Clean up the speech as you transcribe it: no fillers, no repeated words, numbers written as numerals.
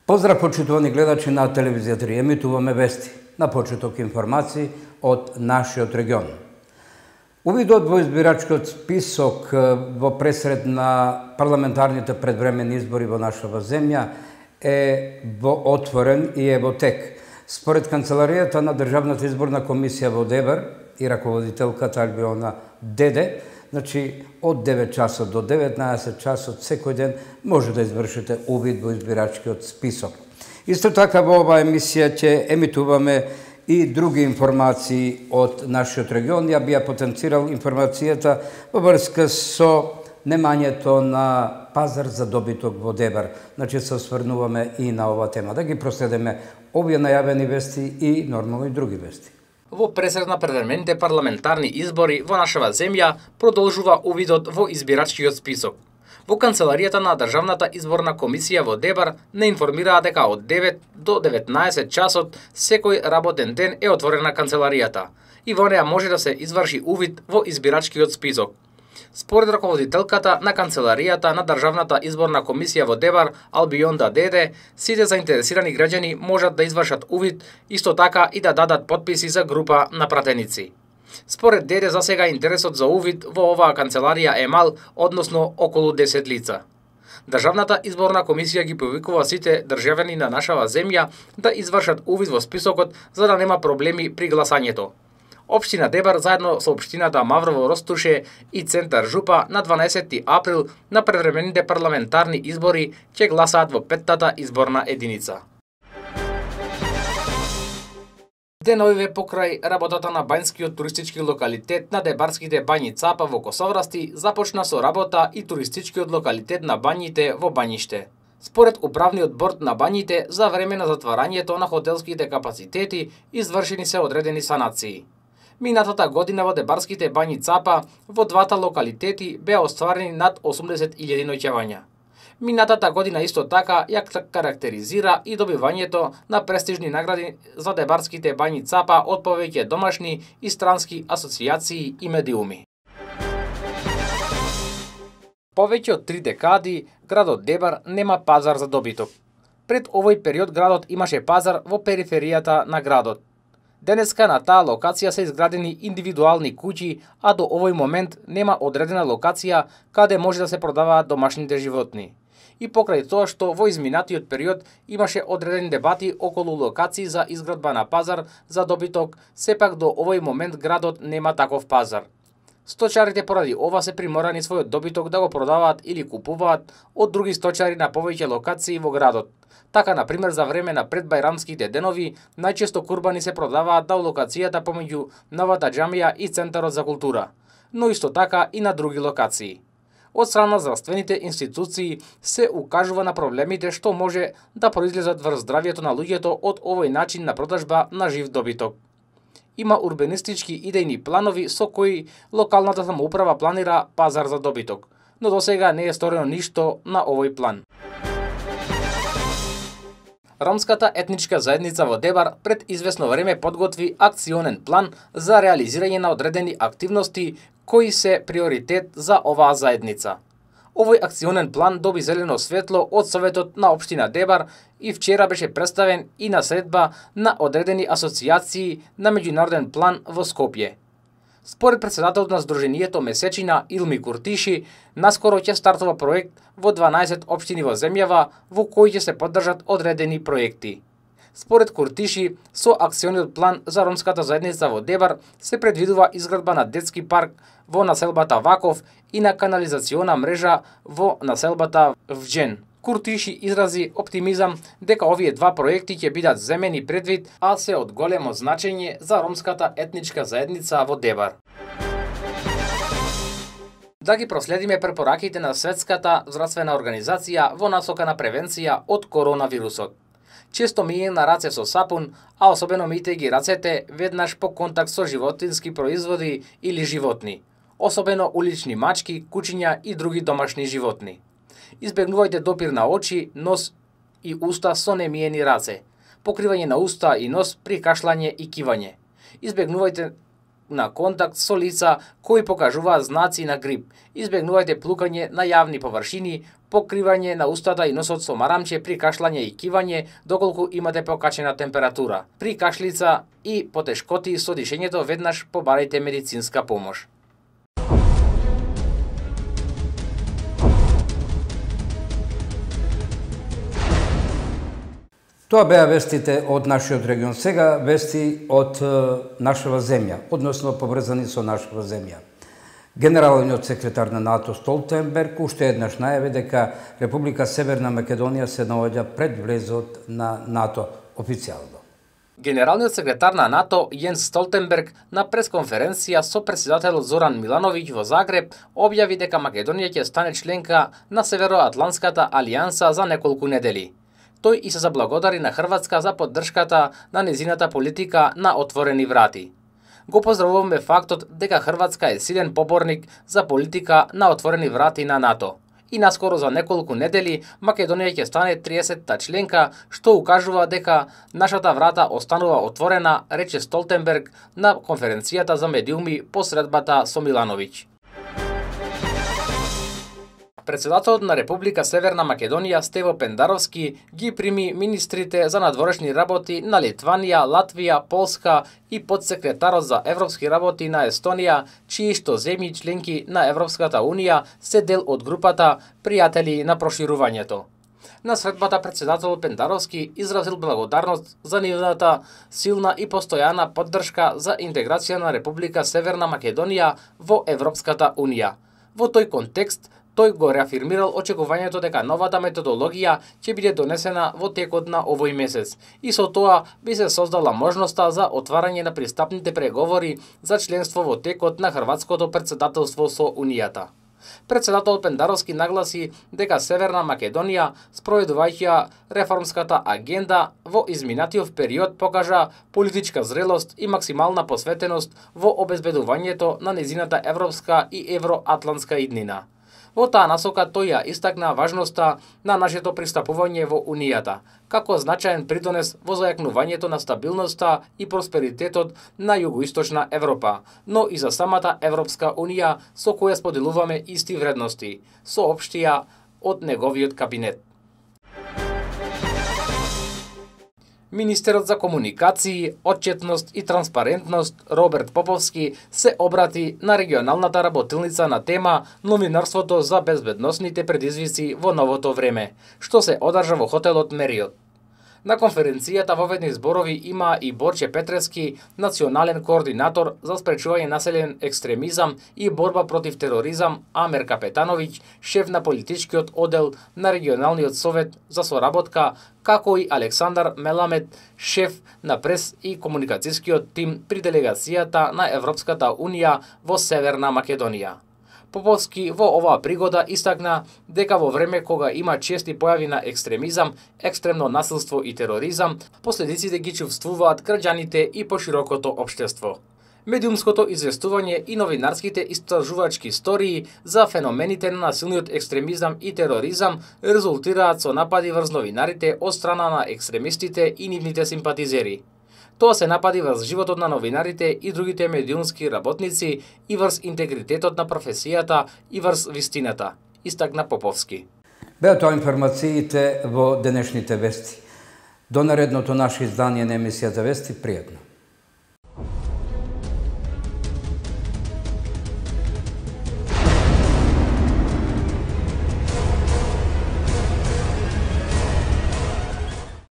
Поздрав, почитувани гледачи на телевизија 3. Емитуваме вести, на почеток информации од нашиот регион. Увидот во избирачкиот список во пресред на парламентарните предвремени избори во нашава земја е во отворен и е во тек. Според Канцеларијата на Државната изборна комисија во ДЕБР и раководителката Албиона Деде, значи од 9 часот до 19 часот секој ден може да извршите увид во избирачкиот список. Исто така во оваа емисија ќе емитуваме и други информации од нашиот регион. Ја би ја потенцирал информацијата во врска со немањето на пазар за добиток во ДЕБР. Значи се осврнуваме и на оваа тема. Да ги проследиме овие најавени вести и нормално и други вести. Во пресред на предвремените парламентарни избори во нашава земја продолжува увидот во избирачкиот список. Во Канцеларијата на Државната изборна комисија во ДЕБР не информираа дека од 9 до 19 часот секој работен ден е отворена канцеларијата и во неа може да се изврши увид во избирачкиот список. Според раководителката на Канцеларијата на Државната изборна комисија во ДЕБР Албионда Деде, сите заинтересирани граѓани можат да извршат увид, исто така и да дадат потписи за група на пратеници. Според Деде, за сега интересот за увид во оваа канцеларија е мал, односно околу 10 лица. Државната изборна комисија ги повикува сите државјани на нашава земја да извршат увид во списокот за да нема проблеми при гласањето. Општина ДЕБР заедно со општината Маврово Ростуше и Центар Жупа на 12 април на предвремените парламентарни избори ќе гласаат во 5-тата изборна единица. Деновиве покрај работата на бањскиот туристички локалитет на Дебарските бањи Цапа во Косоврасти започна со работа и туристичкиот локалитет на бањите во Бањиште. Според управниот борд на бањите, за време на затварањето на хотелските капацитети извршени се одредени санации. Минатата година во Дебарските бањи Цапа во двата локалитети беа остварени над 80.000 ноќевања. Минатата година исто така ја карактеризира и добивањето на престижни награди за Дебарските бањи Цапа од повеќе домашни и странски асоцијации и медиуми. Повеќе од 3 декади градот Дебар нема пазар за добиток. Пред овој период градот имаше пазар во периферијата на градот. Денеска на таа локација се изградени индивидуални куќи, а до овој момент нема одредена локација каде може да се продаваат домашните животни. И покрај тоа што во изминатиот период имаше одредени дебати околу локации за изградба на пазар за добиток, сепак до овој момент градот нема таков пазар. Сточарите поради ова се приморани својот добиток да го продаваат или купуваат од други сточари на повеќе локации во градот. Така, например, за време на предбајрамските денови, најчесто курбани се продаваат на локацијата помеѓу новата џамија и Центарот за култура, но исто така и на други локации. Од страна на здравствените институции се укажува на проблемите што може да произлезат врз здравјето на луѓето од овој начин на продажба на жив добиток. Има урбанистички идејни планови со кои локалната самоуправа планира пазар за добиток, но досега не е сторено ништо на овој план. Ромската етничка заедница во Дебар пред известно време подготви акционен план за реализирање на одредени активности кои се приоритет за оваа заедница. Овој акционен план доби зелено светло од Советот на општина Дебар и вчера беше представен и на средба на одредени асоцијации на меѓународен план во Скопје. Според председателот на Сдруженијето Месечина Илми Куртиши, наскоро ќе стартува проект во 12 општини во земјава во кои ќе се поддржат одредени проекти. Според Куртиши, со акциониот план за ромската заедница во Дебар се предвидува изградба на детски парк во населбата Ваков и на канализациона мрежа во населбата Вџен. Куртиши изрази оптимизам дека овие два проекти ќе бидат земени предвид, а се од големо значење за ромската етничка заедница во Дебар. Да ги проследиме препораките на Светската здравствена организација во насока на превенција од коронавирусот. Често мијење на раце со сапун, а особено мијте ги рацете веднаш по контакт со животински производи или животни, особено улични мачки, кучиња и други домашни животни. Избегнувајте допир на очи, нос и уста со немиени раце, покривање на уста и нос при кашлање и кивање. Избегнувајте на контакт со лица кои покажуваат знаци на грип. Избегнувајте плукање на јавни површини, покривање на устата и носот со марамче при кашлање и кивање доколку имате покачена температура. При кашлица и потешкоти со дишењето веднаш побарајте медицинска помош. Тоа беа вестите од нашиот регион. Сега вести од нашава земја, односно поврзани со нашава земја. Генералниот секретар на НАТО Столтенберг уште еднаш најави дека Република Северна Македонија се наоѓа пред влезот на НАТО официјално. Генералниот секретар на НАТО Јенс Столтенберг на пресконференција со претседателот Зоран Милановиќ во Загреб објави дека Македонија ќе стане членка на Североатлантската алијанса за неколку недели. Тој и се заблагодари на Хрватска за поддршката на незината политика на отворени врати. Го поздравуваме фактот дека Хрватска е силен поборник за политика на отворени врати на НАТО. И наскоро за неколку недели Македонија ќе стане 30-та членка, што укажува дека нашата врата останува отворена, рече Столтенберг на конференцијата за медиуми по средбата со Милановиќ. Председателот на Република Северна Македонија Стево Пендаровски ги прими министрите за надворешни работи на Литванија, Латвија, Полска и подсекретарот за европски работи на Естонија, чии што земји членки на Европската Унија се дел од групата пријатели на проширувањето. На средбата председателот Пендаровски изразил благодарност за нивната силна и постојана поддршка за интеграција на Република Северна Македонија во Европската Унија. Во тој контекст, тој го реафирмирал очекувањето дека новата методологија ќе биде донесена во текот на овој месец и со тоа би се создала можноста за отварање на пристапните преговори за членство во текот на хрватското претседателство со Унијата. Председателот Пендаровски нагласи дека Северна Македонија, спроведувајќи реформската агенда во изминатиот период, покажа политичка зрелост и максимална посветеност во обезбедувањето на незината европска и евроатлантска иднина. Во таа насока тој ја истакна важноста на нашето пристапување во Унијата, како значаен придонес во зајакнувањето на стабилноста и просперитетот на југоисточна Европа, но и за самата Европска Унија со која споделуваме исти вредности, соопштија од неговиот кабинет. Министерот за комуникации, отчетност и транспарентност Роберт Поповски се обрати на регионалната работилница на тема новинарството за безбедносните предизвици во новото време, што се одржа во хотелот Мериот. На конференцијата воведни зборови има и Борче Петрески, национален координатор за спречување населен екстремизам и борба против тероризам, Амер Капетановиќ, шеф на политичкиот оддел на регионалниот совет за соработка, како и Александар Меламет, шеф на прес и комуникацијскиот тим при делегацијата на Европската Унија во Северна Македонија. Поповски во оваа пригода истакна дека во време кога има чести појави на екстремизам, екстремно насилство и тероризам, последиците ги чувствуваат граѓаните и поширокото општество. Медиумското известување и новинарските истражувачки истории за феномените на насилниот екстремизам и тероризам резултираат со напади врз новинарите од страна на екстремистите и нивните симпатизери. Тоа се напади врз животот на новинарите и другите медиумски работници и врз интегритетот на професијата и врз вистината, истакна Поповски. Беа тоа информациите во денешните вести. До наредното наше издание на емисијата Вести, пријатно.